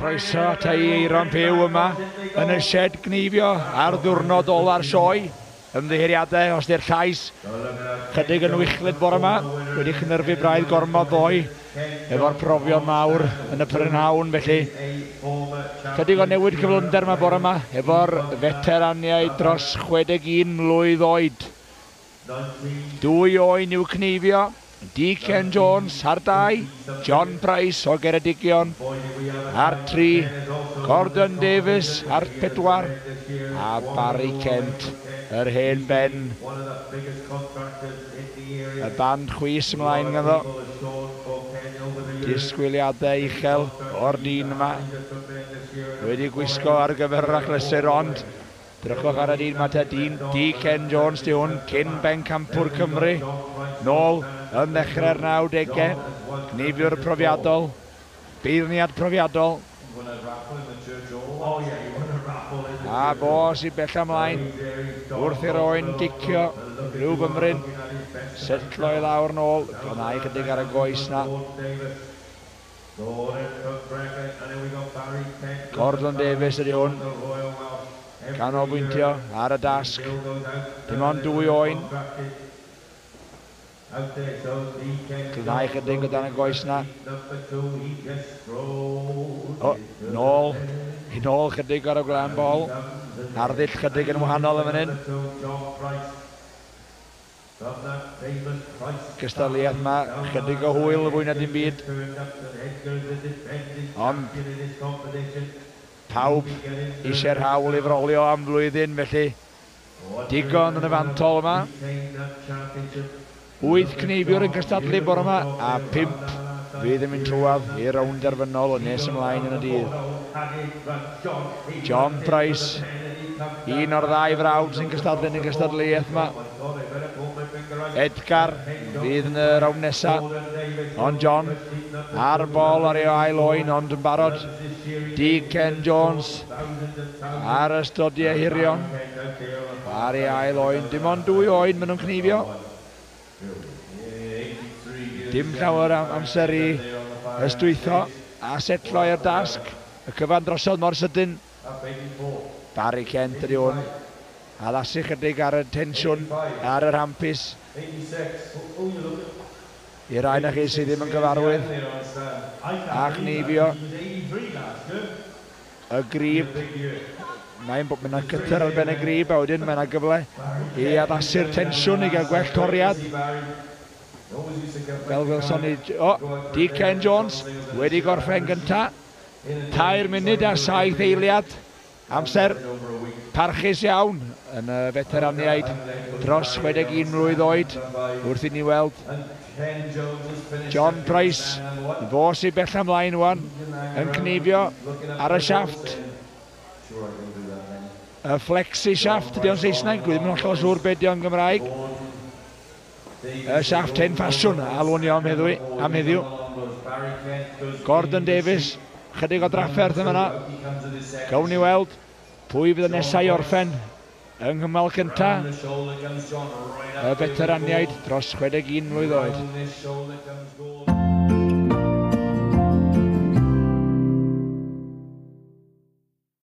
Croeso ata i Eiron Pugh yma yn y shed gneifio ar ddiwrnod ola'r sioe. Ymddiheuriadau os di'r llais chydig yn wichlyd bore yma, wedi chynyrfu braidd gormod ddoe efo'r profion mawr yn y prynhawn, felly chydig o newid cyflymder yma bore yma efo'r veteraniaid dros 61 mlwydd oed. Dwy oen i'w cneifio, D. Ken Jones ar 2, John Price o Geredigion ar 3, Gordon Davies ar 4, a Barry Kent, yr hen ben. Y band chwys ymlaen ganddo. Disgwyliadau uchel o'r dyn yma. Wedi gwisgo ar gyfer yr achlysur, ond drychwch ar y dyn yma te, dyn D. Ken Jones di hwn, cyn bencampwr Cymru, nôl yn ddechrau'r 90au, cneifiwr profiadol, beirniad profiadol. A fo sy'n bell ymlaen wrth i'r oen gicio rhyw fymryn, setlo i lawr nôl, glanhau chydig ar y goes na. Gordon Davies ydy hwn, canolbwyntio ar y dasg, dim ond dwy oen. Glanhau chydig o dan y goes na. O, nôl, i nôl chydig ar y glan bol. Arddull chydig yn wahanol yn fan hyn. Cystadleuaeth yma, chydig o hwyl fwy na dim byd. Ond pawb eisiau'r hawl i frolio am flwyddyn, felly digon yn y fantol yma. 8 cneifiwr yn cystadlu bore yma, a 5 fydd yn mynd trwadd i'r rownd derfynol yn nes ymlaen yn y dydd. John Price, un o'r ddau frawd sy'n cystadlu yn y gystadleuaeth yma. Edgar fydd yn y rownd nesaf, ond John ar y bol ar ei ail oen, ond yn barod. D. Ken Jones ar y stodiau hirion ar ei ail oen. Dim ond dwy oen maen nhw'n cneifio. Dim llawer amser i ystwytho a setlo i'r dasg. Y cyfan drosodd mor sydyn. Barry Kent ydy hwn. Addasu chydig ar y tensiwn, ar yr hampus. I rai na chi sydd ddim yn gyfarwydd a chneifio y grib. Mae'n bod yna cytr ar ben y grib, a wedyn mae yna gyfle i addasu'r tensiwn i gael gwell toriad. Fel welson ni, o, D. Ken Jones wedi gorffen gynta. 3 munud a 7 eiliad. Amser parchus iawn yn y veteraniaid dros 61 mlwydd oed wrth i ni weld John Price, fo sy'n bell ymlaen wan, yn cneifio ar y siafft. Y flexi shaft ydy o'n Saesneg, dwi ddim yn hollol siŵr beth ydy o'n Gymraeg. Y siafft hen ffasiwn, alwn i am heddiw. Gordon Davies, chydig o drafferth yn fan'na. Gawn ni weld pwy fydd y nesau i orffen yng nghymal cynta y veteraniaid dros 61 mlwydd oed.